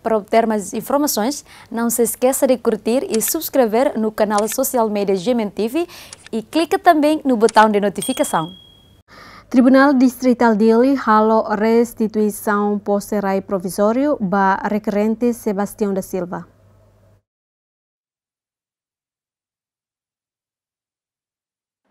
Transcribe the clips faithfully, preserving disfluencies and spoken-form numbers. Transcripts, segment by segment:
Para obter mais informações, não se esqueça de curtir e subscrever no canal social media G M N T V e clica também no botão de notificação. Tribunál Distritál Dili halo restituisaun pose rai provizóriu ba rekerente Sebastião da Silva.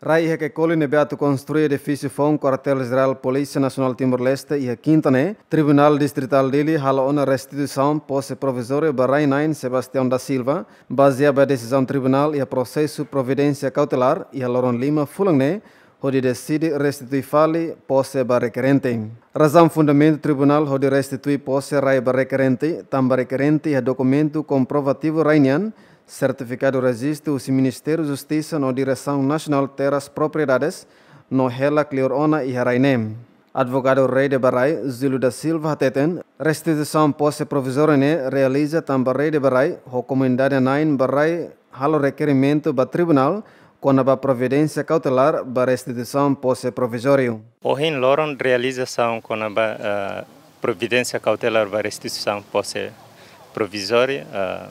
Rai iha Caicoli ne'ebé atu konstrui edifísiu foun Kuartél Jerál Polísia Nasionál Timor-Leste iha Kinta ne'e, Tribunál Distritál Dili halo ona restituisaun pose provizóriu ba rai-na'in Sebastião da Silva, bazeia ba desizaun tribunál iha prosesu providénsia kautelár iha loron lima fulan ne'e, hodi deside restitui fali pose ba rekerente. Razaun fundamentu tribunál hodi restitui pose rai ba rekerente, tanba rekerente iha dokumentu komprovativu rai nian, sertifikadu rejistu husi Ministériu Justisa no Diresaun Nasionál Terras Propriedades, no hela kleur ona iha rai ne'e. Advogadu rede ba rai, Júlio da Silva hateten, restituisaun pose provizóriu ne'e realiza tanba rede ba rai, ho komunidade na'in ba rai, halo rekerimentu ba tribunál, kona-ba providénsia kautelár ba restituisaun pose provizóriu. Ohin loron realizasaun kona-ba, eh, providénsia kautelár ba restituisaun pose provizóriu, eh,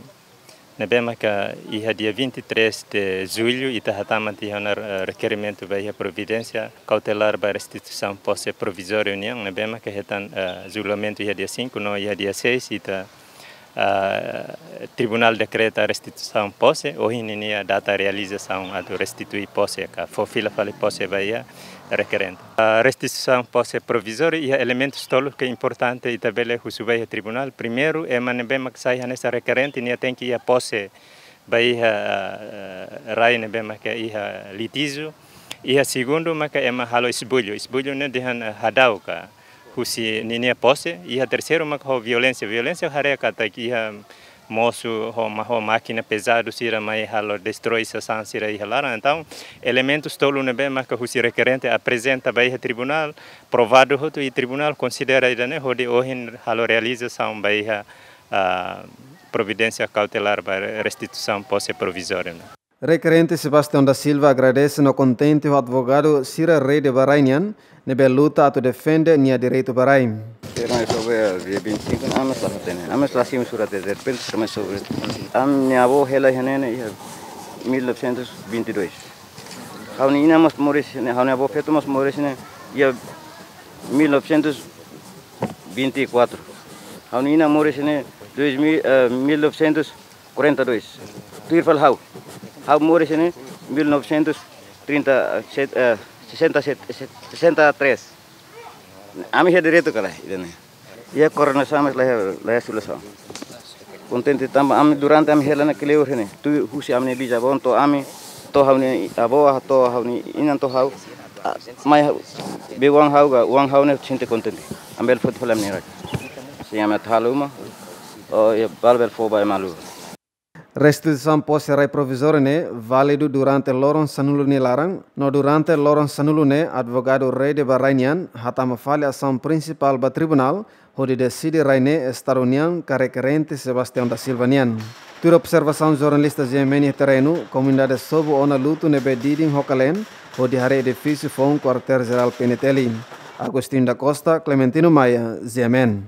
ne'ebé maka iha dia vinte e três de julho ita hatama tiha ona, eh, rekerimentu ba iha providénsia kautelár ba restituisaun pose provizóriu nian, ne'ebé maka hetan, eh, julgamentu iha dia cinco no iha dia seis ita, ah, tribunál dekreta restituisaun pose, ohin ninia data realizasaun atu restitui pose ka fó fila fali pose ba iha rekerente. Ah, restituisaun pose provizóriu iha elementus tolu ke importante ita bele husu ba iha tribunál. Primeiru, ema ne'ebé mak sai hanesan rekerente nia tenke iha pose ba iha, eh, rai ne'ebé maka iha litíjiu. Iha segundu maka ema halo esbullu. Esbullu ne'e dehan, eh, hadau ka husi ninia pose. Iha terseiru maka ho violénsia. Violénsia haree katak iha mosu ho ma-, ho mákina pezadu sira mai halo destroi sasán sira iha laran. Entaun, elementus tolu ne'ebé maka husi rekerente aprezenta ba iha tribunál, provadu hotu i tribunál konsidera ida-ne'e hodi ohin halo realizasaun ba iha, ah, providénsia kautelár ba restituisaun pose provizóriu ne'e. Rekerente Sebastião da Silva agradese no kontente ho advogadu sira rede ba rai nian, ne'ebé luta atu defende nia direitu ba rai. Será sobre dia vinte e cinco, ami la hatene. Ami la simu surat de repente, também sobre. Ami-nia avó hela iha ne'e iha mil novecentos e vinte e dois. Ha'u-nia inan mós moris ne'e, ha'u-nia avó feto mós moris ne'e iha mil novecentos e vinte e quatro. Ha'u-nia inan moris ne'e dois mil, eh, mil novecentos e quarenta e dois. Tuir fali ha'u. Ha'u moris ne'e mil novecentos e trinta, eh, sessenta e sete, sessenta e três. Ami iha direitu ka lae, ida-ne'e. Iha koordenasaun, mas la iha, la iha solusaun. Kontente tanba ami durante ami hela ne'e kleur ne'e. Tuir husi ami-nia bizavó to'o ami, to'o ha'u-nia avó, to'o ha'u-nia inan to'o ha'u. Ah, mai ha'u, be oan ha'u ka, oan ha'u ne'e sente kontente. Ami bele foti fali ami-nia rai. Sin ami atu halo uma, oh, iha balu bele fó ba ema haluha. Restituisaun pose rai provizóriu ne'e válidu durante loron sanulu nia laran, no durante loron sanulu ne'e advogadu rede ba rai nian hatama fali asaun prinsipál ba tribunál, hodi deside rai ne'e Estadu nian ka rekerente Sebastião da Silva nian. Tuir observasaun jornalista G M N iha terrenu, komunidade sobu ona lutu ne'ebé didin ho kalen, hodi haree edifísiu foun Kuartél Jerál P N T L. Agostinho da Costa, Clementino Maia, G M N.